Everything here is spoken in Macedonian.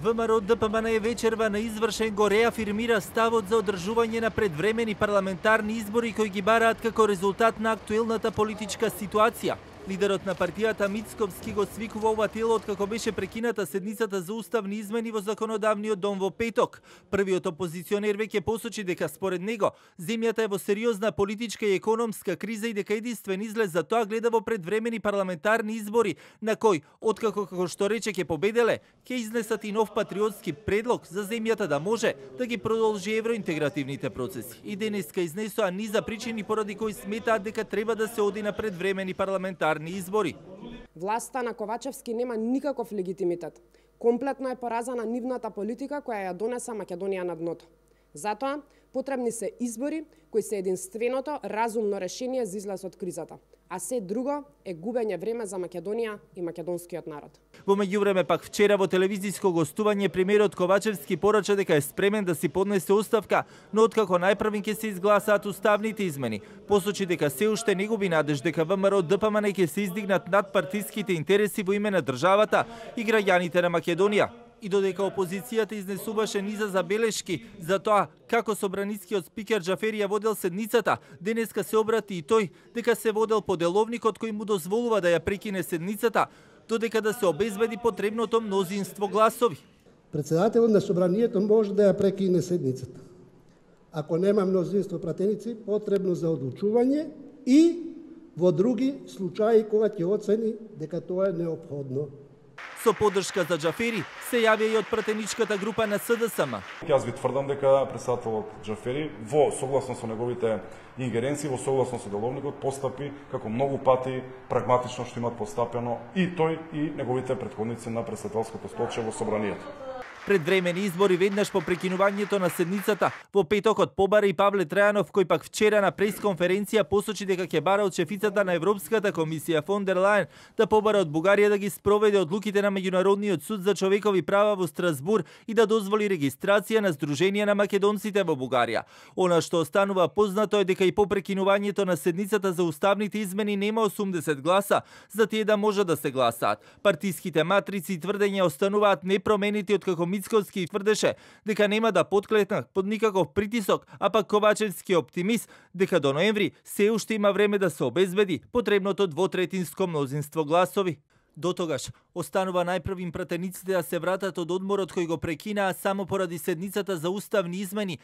ВМРО ДПМН вечерва на извршен го реафирмира ставот за одржување на предвремени парламентарни избори кои ги бараат како резултат на актуелната политичка ситуација. Лидерот на партијата Мицковски го свикува ова тело откако беше прекината седницата за уставни измени во законодавниот дом во петок. Првиот опозиционер веќе посочи дека според него земјата е во сериозна политичка и економска криза и дека единствен излез за тоа гледа во предвремени парламентарни избори на кој, откако како што рече ќе победеле, ќе изнесат и нов патриотски предлог за земјата да може да ги продолжи евроинтегративните процеси. И денеска изнесоа низа причини поради кои сметаат дека треба да се оди на предвремени парламентарни избори. Власта на Ковачевски нема никаков легитимитет. Комплетно е поразана нивната политика која ја донеса Македонија на дното. Затоа потребни се избори кои се единственото разумно решение за излез од кризата. А се друго е губење време за Македонија и македонскиот народ. Во меѓувреме пак вчера во телевизиско гостување премиерот Ковачевски порача дека е спремен да си поднесе оставка, но откако најпрвин ќе се изгласаат уставните измени, посочи дека се уште не губи надеж дека ВМРО ДПМН ќе се издигнат над партиските интереси во име на државата и граѓаните на Македонија. И додека опозицијата изнесуваше низа забелешки за тоа како собранискиот спикер Џафери ја водел седницата, денеска се обрати и тој дека се водел по деловникот кој му дозволува да ја прекине седницата, додека да се обезбеди потребното мнозинство гласови. Председателот на собранието може да ја прекине седницата. Ако нема мнозинство пратеници, потребно за одлучување и во други случаи кога ќе оцени дека тоа е неопходно. Со поддршка за Џафери се јавија и од пратеничката група на СДСМ. Јас ви тврдам дека председателот Џафери во согласно со неговите ингеренции, во согласно со деловникот постапи како многу пати прагматично што имат постапено и тој и неговите претходници на претседателското столче во собранието. Предвремени избори веднаш по прекинувањето на седницата во петокот побара и Павле Трајанов, кој пак вчера на пресконференција посочи дека ќе бара од шефицата на Европската комисија фон дер Лајен да побара од Бугарија да ги спроведе одлуките на Меѓународниот суд за човекови права во Страсбур и да дозволи регистрација на Сдруженија на македонците во Бугарија. Она што останува познато е дека и по прекинувањето на седницата за уставните измени нема 80 гласа за тие да може да се гласаат. Партиските матрици и тврдења остануваат непроменети откако Мицковски тврдеше дека нема да потклетнат под никаков притисок, а пак Ковачевски е оптимист дека до ноември се уште има време да се обезбеди потребното двотретинско мнозинство гласови. Дотогаш останува најпрвим пратениците да се вратат од одморот кој го прекинаа само поради седницата за уставни измени,